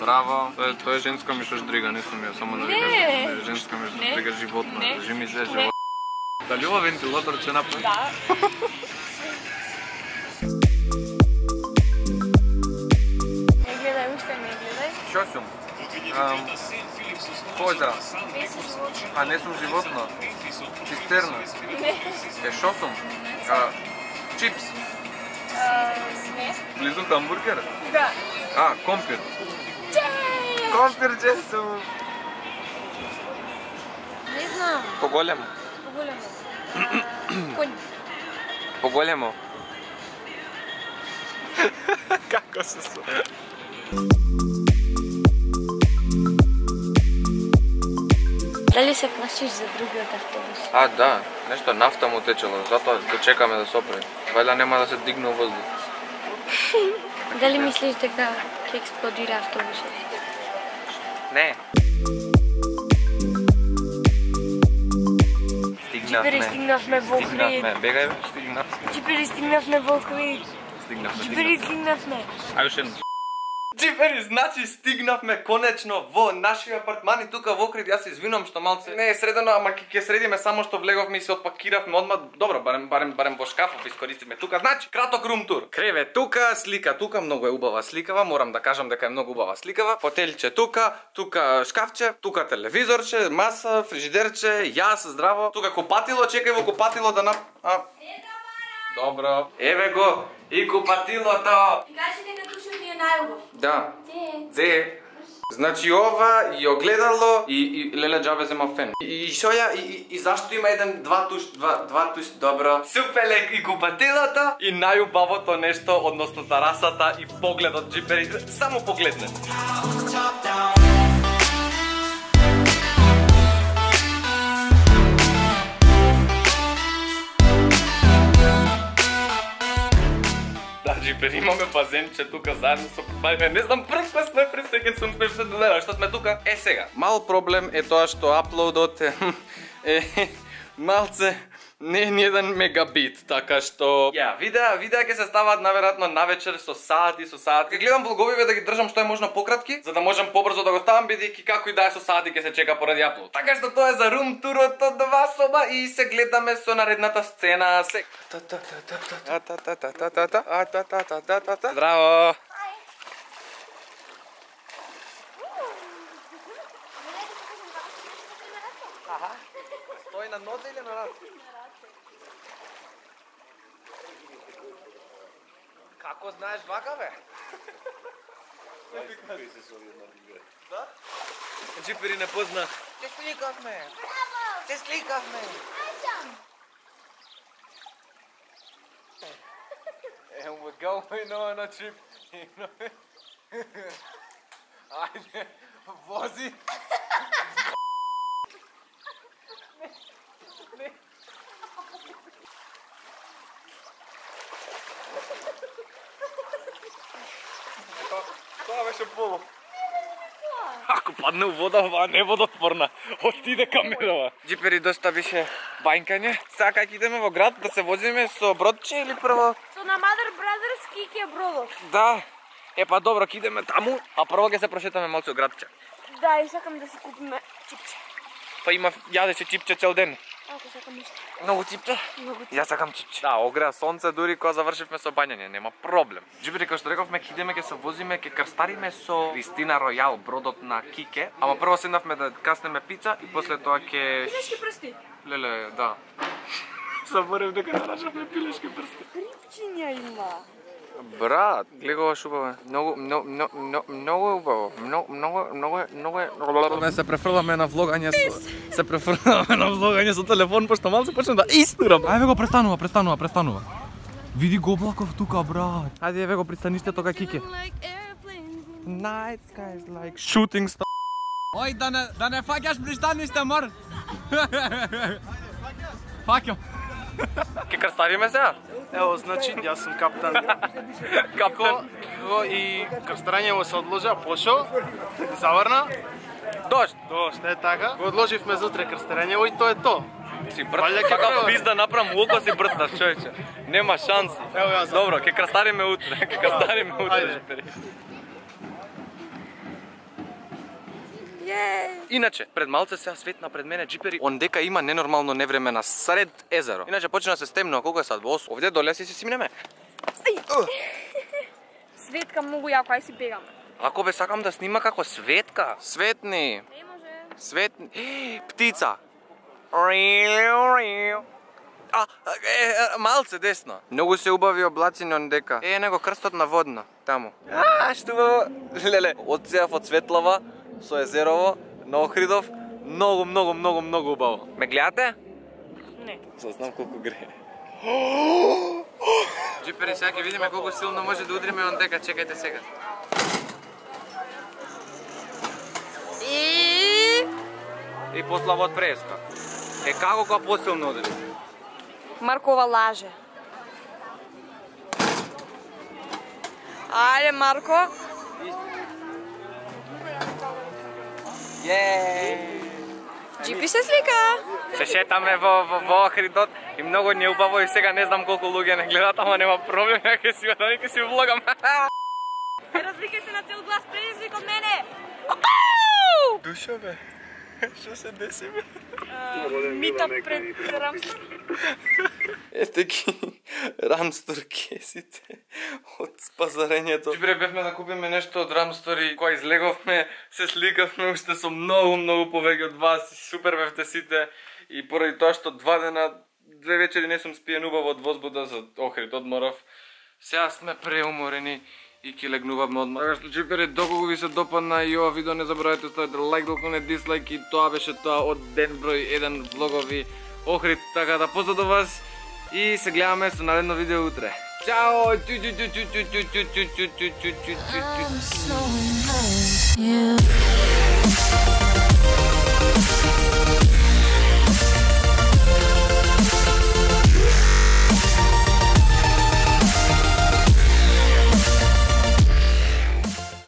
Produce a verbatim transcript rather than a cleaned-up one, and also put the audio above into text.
Браво. Тоа е, тоа е женска мишоштрига, не сум ја, само да ви кажам. Женска мишоштрига животна. Кажи ми се животно. Дали ова вентилатор ќе направи? Да. Не гледај, уште не гледај. Шо сум? Коза. Не си животно. А не сум животно? Цистерна? Не. Е, шо сум? Чипс? Не. Близу хамбургер? Да. А, компир. Чеј! Компир че сум. Не знам. Поголемо. Поголемо. Конј. Поголемо. Како се сум? Дали се плашиш за другиот автобус? А, да. Нешто нафта му течело, затоа го чекаме да сопре. Вајда нема да се дигне воздух. Дали мислиш дека ќе експлодира автобусот? Не. Джипери стигнавме во Охрид. Стигнавме, бегај бе, стигнавме. Джипери стигнавме во Охрид. Стигнавме, Джипери стигнавме. Ајде уште едно. Джипери, значи стигнавме конечно во нашиот апартман и тука во Охрид. Јас се извинувам што малце не е средено, ама ќе ќе средиме само што влеговме и се отпакиравме одма. Добро, барем барем барем во шкафов искористивме тука. Значи, краток рум тур. Креве тука, слика тука, многу е убава сликава, морам да кажам дека е многу убава сликава. Фотелче тука, тука шкафче, тука телевизорче, маса, фрижидерче, јас здраво. Тука купатило, чекај во купатило да нап... А... Добро. Еве го и купатилото. И кажи дека тушот ни е најубав. Да. Зе. Зе. Значи ова и огледало и, и леле џабе зема фен. И, и шо ја и, и, и зашто има еден два туш, два два туш, добро. Супелек и купатилото и најубавото нешто, односно тарасата и погледот Джипери. Само погледне. Джипери, имаме базенче тука заедно со бајме. Не знам, прв пат сме пресеќен сум сме се доделали што сме тука. Е сега, мал проблем е тоа што аплоудот е, е малце не е ни еден мегабит, така што ја, видеа, видеа ќе се ставаат наверојатно навечер со сати, со сати. Ке гледам влоговиве да ги држам што е можно пократки, за да можам побрзо да го ставам бидејќи како и да е со сати ќе се чека поради аплоуд. Така што тоа е за рум турот од два соба и се гледаме со наредната сцена. Се Здраво. Аха. Стои на нозе или на рак? Како знаеш вака, бе? Да? Джипери не позна. Се сликавме. Се сликавме. And we're going on a trip. Ajde, vozi. Ne. Тоа беше полу. Ако падне у вода, ова не е водотворна. Отиде камерава. Джипери, доста беше бајкање. Сега кај идеме во град да се возиме со бродче или прво? Со на Mother Brothers ки е бродот. Да. Е па добро, ќе идеме таму, а прво ќе се прошетаме малку од градче. Да, и сакам да си купиме чипче. Па има јадеше чипче цел ден. Ако сакам иште. Многу чипче? Многу чипче. Јас сакам чипче. Да, огреа сонце дури кога завршивме со бањање, нема проблем. Джипери, како што рековме, ќе идеме, ќе се возиме, ќе крстариме со Кристина Ројал, бродот на Кике. Ама прво седнавме да каснеме пица и после тоа ќе... Пилешки прсти. Леле, да. Заборев дека трашавме пилешки прсти. Рипчиња има. Брат, гледай ова шубава. Многу, многу, многу, многу е убаво. Многу, многу, многу, многу е... Ме се префрламе на влогање со... Се префрламе на влогање со телефон, пошто малце почнем да истурам. Ајде го, престанува, престанува, престанува. Види го облаков тука, брат. Ајде, еве го пристаништето кај Кике. Night skies like shooting star. Ој, да не, да не фаќаш пристаниште, мор. Фаќам. Ке крстариме сега? Ево, значи, јас сум капитан. Капитан. Кико и крстарењево се одложа, пошо, заврна. Дошт. Дошт, е така. Го одложивме за утре крстарењево и тоа е то. Си брат, сакам пизда направам луко си брцнав, човече. Нема шанси. Ево јас. Добро, ке крстариме утре, ке крстариме утре. Иначе, пред малце сега светна пред мене джипери, ондека има ненормално невреме на сред езеро. Иначе почна да се стемно, колку е сад? Во осум. Овде доле си си минеме. Светка многу јако, ај си бегаме. Ако бе сакам да снима како Светка. Светни. Не може. Светни. Птица. А, е, малце десно. Многу се убави облаци ондека. Е, него крстот на водна, таму. А, што убаво. Леле, одсеав од Светлава со езерово на Охридов. Многу, многу, многу, многу убаво. Ме гледате? Не. Знам колку грее. Джипери, сега ќе видиме колку силно може да удриме ондека, чекајте сега. И И послава од преска. Е, како кога посилно удри? Маркова лаже. Ајде, Марко. Јеее! Джипи се слика. Се шетаме во, во, во Охридот и многу не убаво и сега не знам колку луѓе не гледат, ама нема проблем, ја ќе си одам и ќе си влогам. Развикај се на цел глас, предизвик од мене. Душо бе, што се деси бе? Мита пред Рамстор. Ете ги рамсторкесите од пазарењето. Джибре, бевме да купиме нешто од Рамстор и кога излеговме, се сликавме уште со многу, многу повеќе од вас. Супер бевте сите и поради тоа што два дена, две вечери не сум спиен убаво од возбуда за Охрид, одморов. Сега сме преуморени и ќе легнуваме одмор. Така што джипери, доколку ви се допадна и ова видео, не заборавајте ставите лайк, доколку не дислайк, и тоа беше тоа од ден број еден влогови Охрид. Така да поздрав до вас и се гледаме со наредно видео утре. Чао! Yeah.